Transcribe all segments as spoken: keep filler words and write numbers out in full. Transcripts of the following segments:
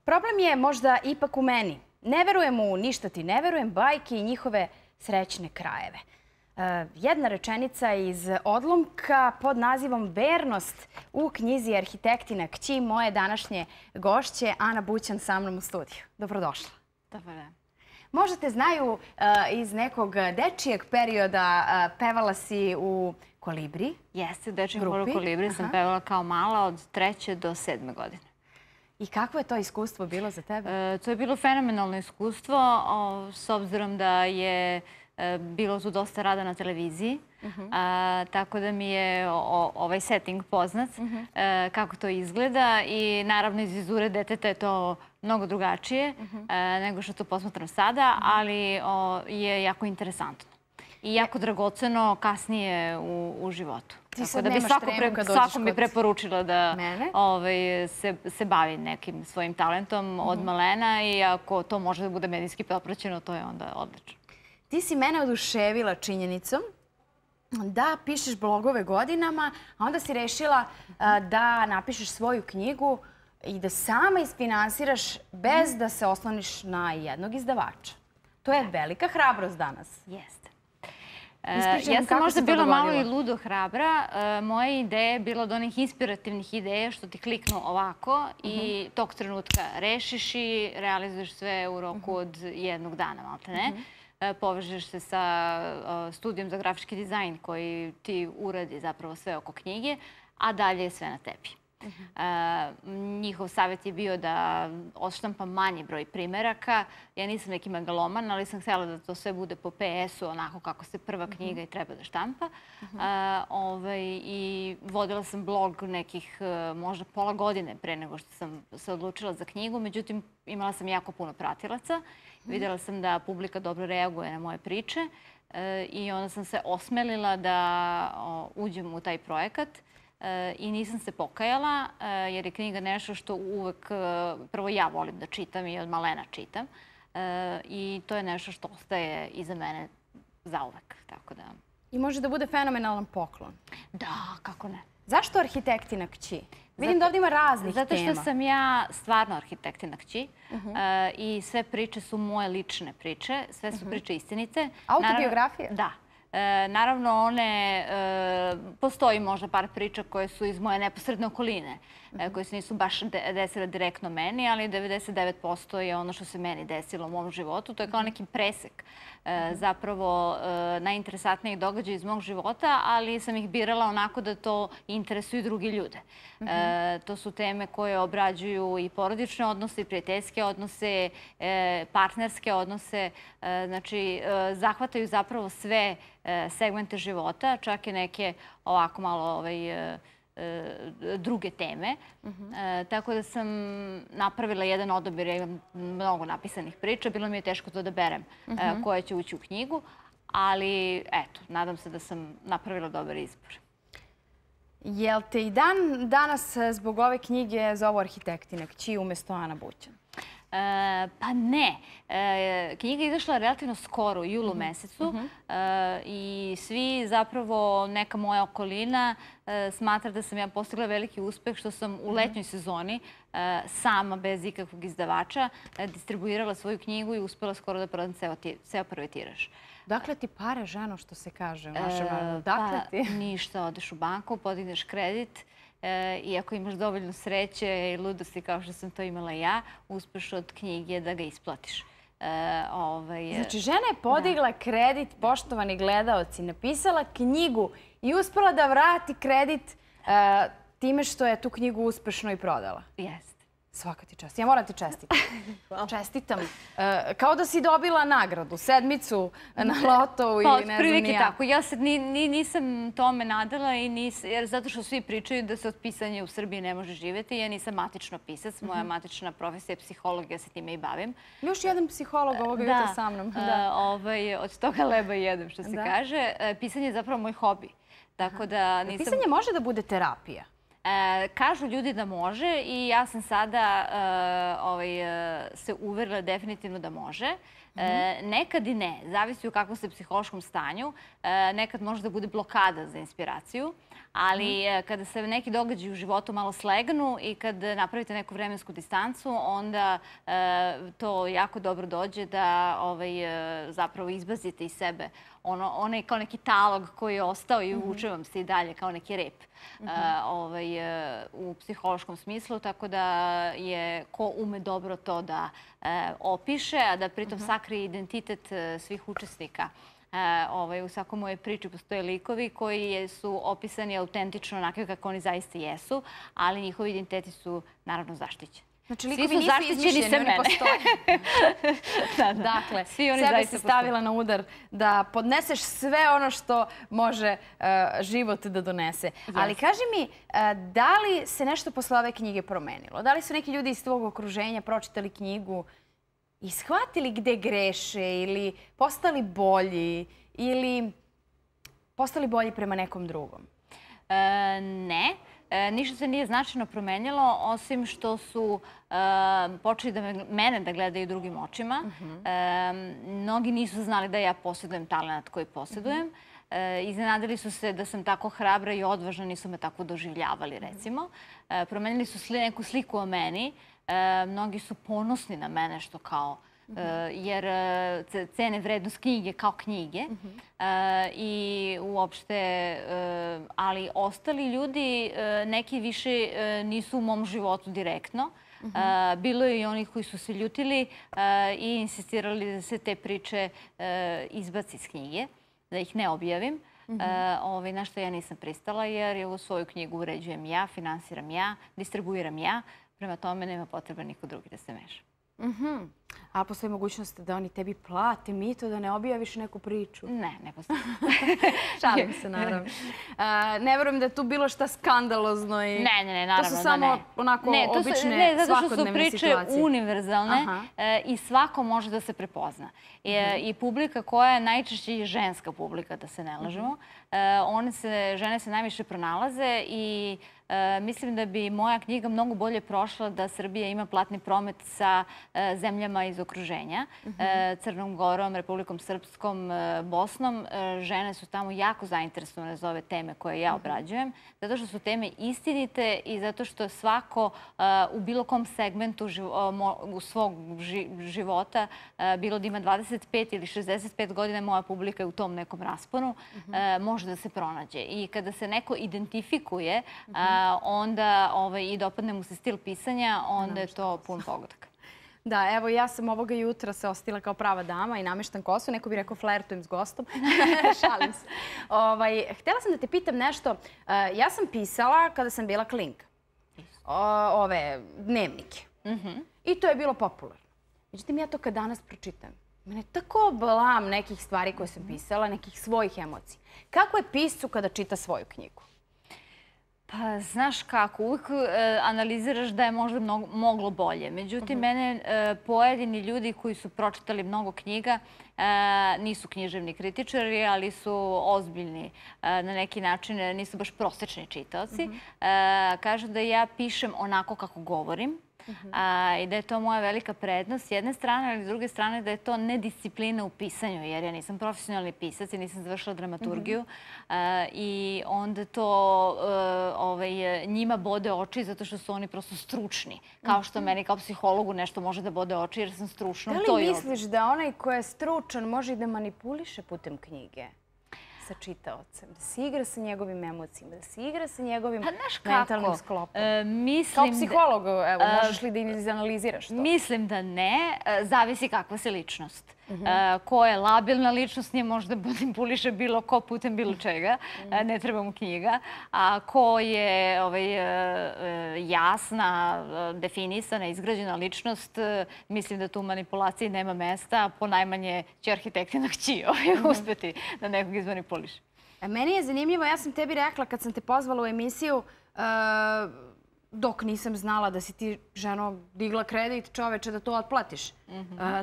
Problem je možda ipak u meni. Ne verujem u ništa ti ne verujem, bajke i njihove srećne krajeve. Jedna rečenica iz odlomka pod nazivom Vernost u knjizi Arhitektina kći moje današnje gošće Ana Bućan sa mnom u studiju. Dobrodošla. Dobar dan. Možda te znaju iz nekog dečijeg perioda, pevala si u Kolibri. Jeste, u dečijem horu Kolibri sam pevala kao mala od treće do sedme godine. I kakvo je to iskustvo bilo za tebe? To je bilo fenomenalno iskustvo, s obzirom da je bilo tu dosta rada na televiziji, tako da mi je ovaj setting poznat, kako to izgleda i naravno iz vizure deteta je to mnogo drugačije nego što to posmatram sada, ali je jako interesantno i jako dragoceno kasnije u životu. Tako da bi svakom bi preporučila da se bavi nekim svojim talentom od malena i ako to može da bude medijski popraćeno, to je onda odlično. Ti si mene oduševila činjenicom da pišeš blogove godinama, a onda si rešila da napišeš svoju knjigu i da sama isfinansiraš bez da se osloniš na jednog izdavača. To je velika hrabrost danas. Jeste. Ja sam možda bila malo i ludo hrabra. Moja ideja je bila od onih inspirativnih ideja što ti kliknu ovako i tog trenutka rešiš i realizuješ sve u roku od jednog dana, malte ne. Povežeš se sa studijom za grafički dizajn koji ti uradi zapravo sve oko knjige, a dalje je sve na tebi. Njihov savjet je bio da odštampam manji broj primeraka. Ja nisam neki megaloman, ali sam htjela da to sve bude po pe esu, onako kako se prva knjiga i treba da štampa. I vodila sam blog nekih možda pola godine pre nego što sam se odlučila za knjigu. Međutim, imala sam jako puno pratilaca. Vidjela sam da publika dobro reaguje na moje priče i onda sam se osmelila da uđem u taj projekat. I nisam se pokajala, jer je knjiga nešto što uvek, prvo ja volim da čitam i od malena čitam. I to je nešto što ostaje iza mene zauvek. I može da bude fenomenalan poklon. Da, kako ne. Zašto Arhitektina kći? Vidim da ovdje ima raznih tema. Zato što sam ja stvarno arhitektina kći i sve priče su moje lične priče, sve su priče istinice. Autobiografije? Da. Naravno, one, postoji možda par priča koje su iz moje neposredne okoline, koje se nisu baš desile direktno meni, ali devedeset devet posto je ono što se meni desilo u mom životu. To je kao neki presek zapravo najinteresantnijih događaja iz mog života, ali sam ih birala onako da to interesuju drugi ljude. To su teme koje obrađuju i porodične odnose, i prijateljske odnose, partnerske odnose. Znači, zahvataju zapravo sve segmente života, čak i neke ovako malo druge teme. Tako da sam napravila jedan odabir, ja imam mnogo napisanih priča, bilo mi je teško to da berem koje će ući u knjigu, ali eto, nadam se da sam napravila dobar izbor. Jel te i dan danas zbog ove knjige zovu Arhitektina kći umjesto Ana Bućan? Pa ne. Knjiga je izašla relativno skoro, u julu mesecu i svi zapravo, neka moja okolina smatra da sam ja postigla veliki uspeh što sam u letnjoj sezoni sama, bez ikakvog izdavača, distribuirala svoju knjigu i uspela skoro da prodam ceo prvi tiraž. Dakle ti pare, ženo, što se kaže u našem narodu? Dakle ti? Ništa, odeš u banku, podigneš kredit i ako imaš dovoljno sreće i ludosti kao što sam to imala ja, uspeš od knjige da ga isplatiš. Znači, žena je podigla kredit, poštovani gledaoci, napisala knjigu i uspela da vrati kredit time što je tu knjigu uspešno i prodala. Jeste. Svaka ti čast. Ja moram ti čestitam. Čestitam. Kao da si dobila nagradu, sedmicu na lotovu ili ne znam ni ja. Pa, otprilike tako. Ja se nisam tome nadala, jer zato što svi pričaju da se od pisanja u Srbiji ne može živjeti. Ja nisam matično pisac, moja matična profesija je psiholog, ja se time i bavim. Još jedan psiholog ovoga jutra sa mnom. Od toga leba jedem, što se kaže. Pisanje je zapravo moj hobi. Pisanje može da bude terapija? Kažu ljudi da može i ja sam sada se uverila definitivno da može. Nekad i ne, zavisi u kakvom se psihološkom stanju. Nekad može da bude blokada za inspiraciju, Ali kada se neki događaji u životu malo slegnu i kad napravite neku vremensku distancu, onda to jako dobro dođe da zapravo izbacite iz sebe onaj kao neki talog koji je ostao i uvuče vam se i dalje kao neki rep u psihološkom smislu, tako da je ko ume dobro to da opiše, a da pritom sakrije identitet svih učesnika. U svakom moje priči postoje likovi koji su opisani autentično onakve kako oni zaista jesu, ali njihovi identiteti su naravno zaštićeni. Znači, likovi nisu izmišljeni, oni postoje. Dakle, sebe si stavila na udar da podneseš sve ono što može život da donese. Ali kaži mi, da li se nešto posle ove knjige promenilo? Da li su neki ljudi iz tvog okruženja pročitali knjigu i shvatili gde greše ili postali bolji ili postali bolji prema nekom drugom? Ne. Ništa se nije značajno promenjalo, osim što su počeli da mene da gledaju drugim očima. Mnogi nisu znali da ja posjedujem talent koji posjedujem. Iznenadili su se da sam tako hrabra i odvažna, nisu me tako doživljavali, recimo. Promenili su neku sliku o meni. Mnogi su ponosni na mene, što kao, jer cene vrednost knjige kao knjige i uopšte, ali ostali ljudi, neki više nisu u mom životu direktno. Bilo je i onih koji su se ljutili i insistirali da se te priče izbaci iz knjige, da ih ne objavim. Na što ja nisam pristala, jer je u svoju knjigu uređujem ja, finansiram ja, distribuiram ja. Prema tome nema potrebe niko drugi da se meša. A postoji mogućnost da oni tebi plate mito da ne objaviš neku priču? Ne, ne postoji. Šalim se, naravno. Ne verujem da je tu bilo šta skandalozno. Ne, ne, ne, naravno da ne. To su samo onako obične svakodnevne situacije. Ne, zato što su priče univerzalne i svako može da se prepozna. I publika koja je najčešće ženska publika, da se ne lažemo, žene se najviše pronalaze i mislim da bi moja knjiga mnogo bolje prošla da Srbija ima platni promet sa zemljama iz okruženja, Crnom Gorom, Republikom Srpskom, Bosnom. Žene su tamo jako zainteresovane za ove teme koje ja obrađujem, zato što su teme istinite i zato što svako u bilo kom segmentu svog života, bilo da ima dvadeset pet ili šezdeset pet godina, moja publika je u tom nekom rasponu, može da se pronađe. I kada se neko identifikuje onda i dopadne mu se stil pisanja, onda je to pun pogodak. Da, evo ja sam ovoga jutra se ostila kao prava dama i nameštam kosu. Neko bi rekao flertujem s gostom. Šalim se. Htjela sam da te pitam nešto. Ja sam pisala kada sam bila klinka. Ove dnevnike. I to je bilo popularno. Međutim, ja to kad danas pročitam, mene tako blam nekih stvari koje sam pisala, nekih svojih emocija. Kako je piscu kada čita svoju knjigu? Pa, znaš kako, uvijek analiziraš da je možda moglo bolje. Međutim, mene pojedini ljudi koji su pročitali mnogo knjiga nisu književni kritičari, ali su ozbiljni na neki način, nisu baš prosječni čitaoci. Kažu da ja pišem onako kako govorim i da je to moja velika prednost s jedne strane, ali s druge strane da je to nedisciplina u pisanju, jer ja nisam profesionalni pisac i nisam završila dramaturgiju i onda to njima bode oči zato što su oni prosto stručni. Kao što meni kao psihologu nešto može da bode oči jer sam stručna. Da li misliš da onaj ko je stručan može i da manipuliše putem knjige sa čitaocem, da se igra sa njegovim emocijama, da se igra sa njegovim mentalnim sklopom? Kao psiholog, evo, možeš li da izanaliziraš to? Mislim da ne. Zavisi kakva se ličnost. Ko je labilna ličnost, nije može da manipuliše bilo ko putem bilo čega. Ne treba mu knjiga. A ko je jasna, definisana, izgrađena ličnost, mislim da tu manipulaciji nema mesta. Ponajmanje će arhitektina hći uspeti da nekog izmanipuliše. Meni je zanimljivo, ja sam tebi rekla kad sam te pozvala u emisiju, dok nisam znala da si ti, ženo, digla kredit čoveče da to otplatiš,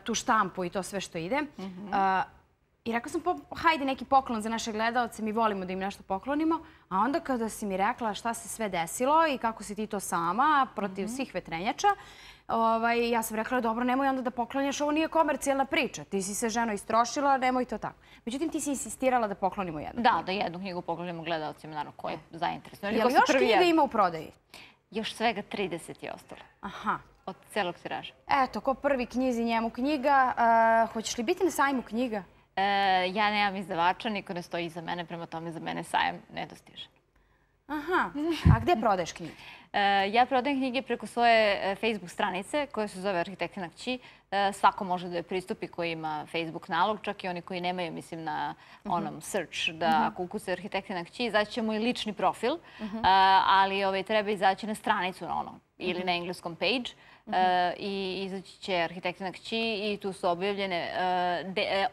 tu štampu i to sve što ide. I rekla sam, hajde neki poklon za naše gledalce, mi volimo da im nešto poklonimo. A onda kada si mi rekla šta se sve desilo i kako si ti to sama protiv svih vetrenjača, ja sam rekla, dobro, nemoj onda da poklanjaš, ovo nije komercijalna priča. Ti si se, ženo, istrošila, nemoj to tako. Međutim, ti si insistirala da poklonimo jednu knjigu. Da, da jednu knjigu poklonimo gledalcima, naravno, koji je zainteresovan. Je li još knjiga ima u prodaji? Još svega trideset je ostalo. Aha. Od celog tiraža. Eto, ko prvi knjizi njemu knjiga. Hoćeš li biti na sajmu knjiga? Ja nemam izdavača, niko ne stoji iza mene, prema tome za mene sajam nedostižan. Aha. A gde prodaješ knjige? Ja prodajem knjige preko svoje Facebook stranice koja se zove Arhitektina kći. Svako može da je pristupi koji ima Facebook nalog, čak i oni koji nemaju, mislim, na onom search da ako ukucaju Arhitektina kći, izaći će moj lični profil, ali treba izaći na stranicu na onom ili na engleskom page i izaći će Arhitektina kći i tu su objavljene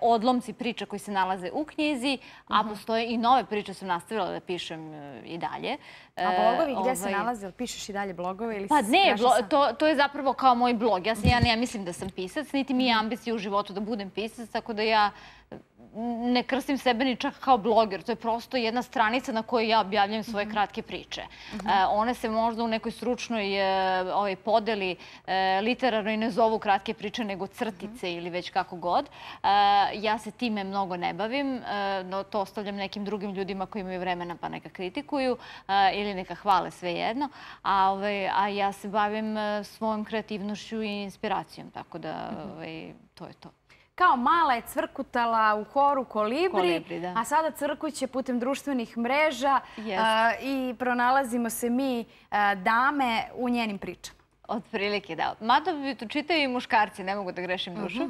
odlomci priča koji se nalaze u knjizi, a postoje i nove priče, sam nastavila da pišem i dalje. A blogovi gde se nalaze? Pišeš i dalje blogove? Pa ne, to je zapravo kao moj blog. Ja ne mislim da sam pisac, niti mi je ambicija u životu da budem pisac, tako da ja ne krstim sebe ni čak kao bloger. To je prosto jedna stranica na kojoj ja objavljam svoje kratke priče. One se možda u nekoj stručnoj podeli literarno i ne zovu kratke priče, nego crtice ili već kako god. Ja se time mnogo ne bavim. To ostavljam nekim drugim ljudima koji imaju vremena pa neka kritikuju ili neka hvale, sve jedno. A ja se bavim svojom kreativnošću i inspiracijom. Tako da to je to. Kao mala je cvrkutala u horu Kolibri, a sada cvrkuće putem društvenih mreža i pronalazimo se mi dame u njenim pričama. Od prilike, da. Mada bi to čitaju i muškarci, ne mogu da grešim dušu.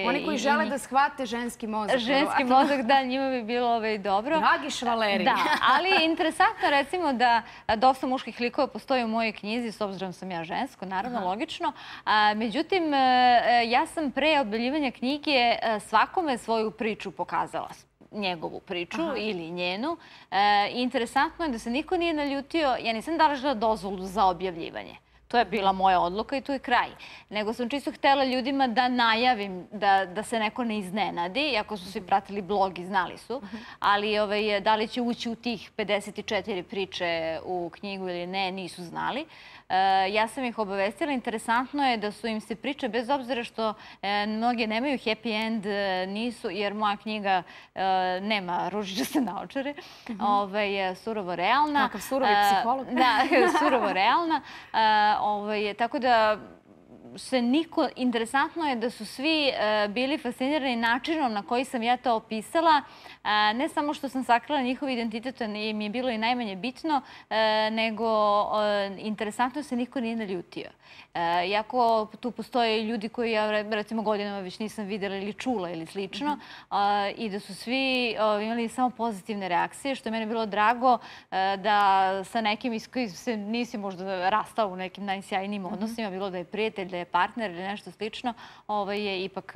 Oni koji žele da shvate ženski mozak. Ženski mozak, da, njima bi bilo dobro. Dragi švaleri. Da, ali je interesantno recimo da dosta muških likova postoji u mojoj knjizi, s obzirom sam ja žensko, naravno, logično. Međutim, ja sam pre objavljivanja knjige svakome svoju priču pokazala, njegovu priču ili njenu. Interesantno je da se niko nije naljutio. Ja nisam tražila dozvolu za objavljivanje. To je bila moja odluka i tu je kraj. Nego sam čisto htjela ljudima da najavim da se neko ne iznenadi, iako su svi pratili blog i znali su. Ali da li će ući u tih pedeset četiri priče u knjigu ili ne, nisu znali. Ja sam ih obavestila. Interesantno je da su im se priče, bez obzira što mnoge nemaju happy end, nisu, jer moja knjiga nema ružičaste naočare, surovo realna. Kakav surovi psiholog. Da, surovo realna. Tako da se niko, interesantno je da su svi bili fascinirani načinom na koji sam ja to opisala. Ne samo što sam sakrila njihov identitet, to mi je bilo i najmanje bitno, nego interesantno se niko nije naljutio. Iako tu postoje ljudi koji ja recimo godinama već nisam vidjela ili čula ili slično i da su svi imali samo pozitivne reakcije, što je meni bilo drago da sa nekim iz kojih se nisi možda rastao u nekim najsjajnijim odnosima, bilo da je prijatelj, da je partner ili nešto slično, je ipak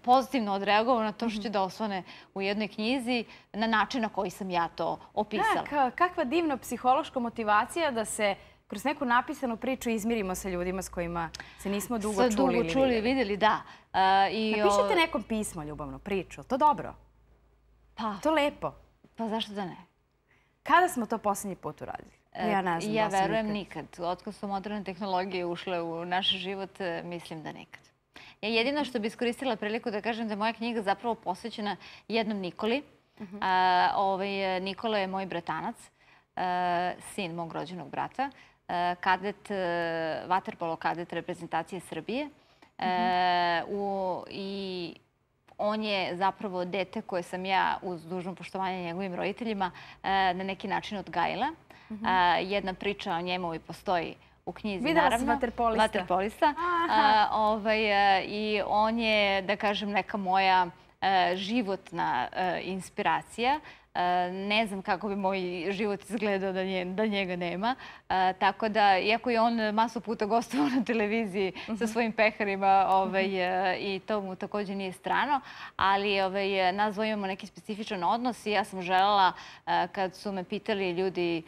pozitivno odreagovao na to što će da osvane u jednoj knjizi na način na koji sam ja to opisala. Kakva divna psihološka motivacija da se kroz neku napisanu priču izmirimo sa ljudima s kojima se nismo dugo čuli ili vidjeli. vidjeli, da. Napišite nekom pismo, ljubavno, priču. To dobro? Pa. To lepo? Pa zašto da ne? Kada smo to posljednji put uradili? Ja ne znam. Ja verujem nikad. Otkad su moderne tehnologije ušle u naš život, mislim da nikad. Ja jedino što bi iskoristila priliku da kažem da je moja knjiga zapravo posvećena jednom Nikoli. Nikola je moj bratanac, sin mog rođenog brata, kadet, vaterpolo kadet reprezentacije Srbije. I on je zapravo dete koje sam ja, uz dužno poštovanje njegovim roditeljima, na neki način odgajila. Jedna priča o njemu i postoji u knjizi, naravno. Videla si vaterpolista. Vaterpolista. I on je, da kažem, neka moja životna inspiracija. Ne znam kako bi moj život izgledao da njega nema. Tako da, iako je on masu puta gostovao na televiziji sa svojim peharima i to mu također nije strano, ali nas dvoje imamo neki specifičan odnos i ja sam želela, kad su me pitali ljudi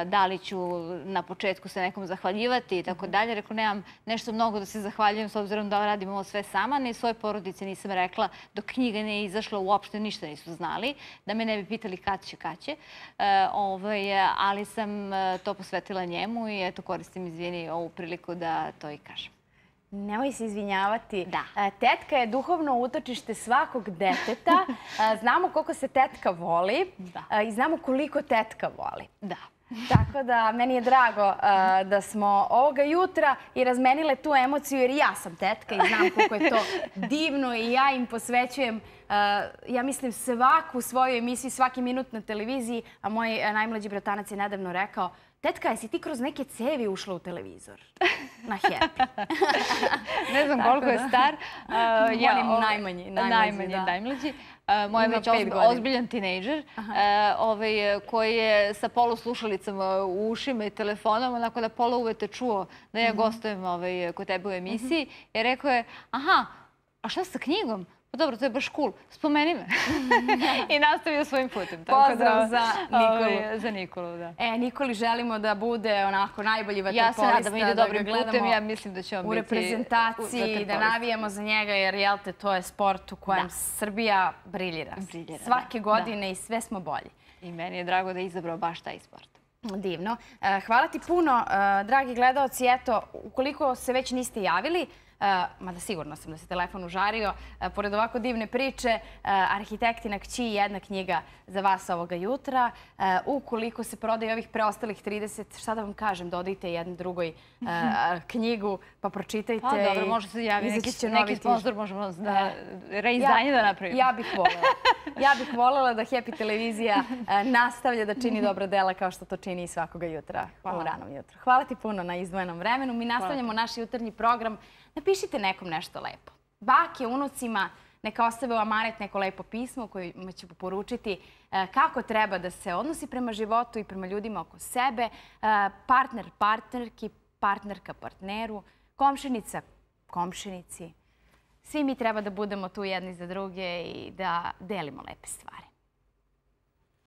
da li ću na početku se nekom zahvaljivati i tako dalje, rekao nemam nešto mnogo da se zahvaljujem s obzirom da radim ovo sve sama, ni svoje porodice nisam rekla dok knjiga nije izašla, uopšte ništa nisu znali, da me ne bi pitali kad će, kad će. Ali sam to posvetila njemu i eto koristim, izvini, ovu priliku da to i kažem. Nemoj se izvinjavati. Da. Tetka je duhovno utočište svakog deteta. Znamo koliko se tetka voli i znamo koliko tetka voli. Da. Tako da, meni je drago da smo ovoga jutra i razmenile tu emociju, jer ja sam tetka i znam koliko je to divno i ja im posvećujem, ja mislim, svaku svoju emisiju, svaki minut na televiziji, a moj najmlađi bratanac je nedavno rekao: tetka, jesi ti kroz neke cevi ušla u televizor? Na Happy. Ne znam koliko je star. On najmanji. Najmanji, najmlađi. Moj je već ozbiljan tinejdžer koji je sa poluslušalicama u ušima i telefonom, onako da pola uvete čuo da ja gostujem kod tebe u emisiji. I rekao je: aha, a šta sa knjigom? Pa dobro, to je baš cool. Spomeni me. I nastavio svojim putem. Pozdrav za Nikolu. Za Nikolu, da. E, Nikoli želimo da bude onako najbolji vaterpolista. Ja se nadam, ide dobrim putem. Ja mislim da će on biti u reprezentaciji, da navijamo za njega, jer, jel te, to je sport u kojem Srbija briljira. Svake godine i sve smo bolji. I meni je drago da je izabrao baš taj sport. Divno. Hvala ti puno, dragi gledaoci. Eto, ukoliko se već niste javili, mada sigurno sam da se telefon užario, pored ovako divne priče, Arhitektina kći, jedna knjiga za vas ovoga jutra. Ukoliko se prodaje ovih preostalih trideset, šta da vam kažem, dodajte jednu drugoj knjigu, pa pročitajte. Pa dobro, može se javi neki sponsor, možemo reizdanje da napravimo. Ja bih voljela. Ja bih voljela da Happy televizija nastavlja da čini dobra dela kao što to čini i svakoga jutra u ranom jutru. Hvala ti puno na izdvojenom vremenu. Mi nastavljamo naš jutarnji program. Napišite nekom nešto lepo. Bake, unucima, neka ostave u amanet neko lepo pismo kojima ću poručiti kako treba da se odnosi prema životu i prema ljudima oko sebe. Partner partnerki, partnerka partneru, komšinica komšinici. Svi mi treba da budemo tu jedni za druge i da delimo lepe stvari.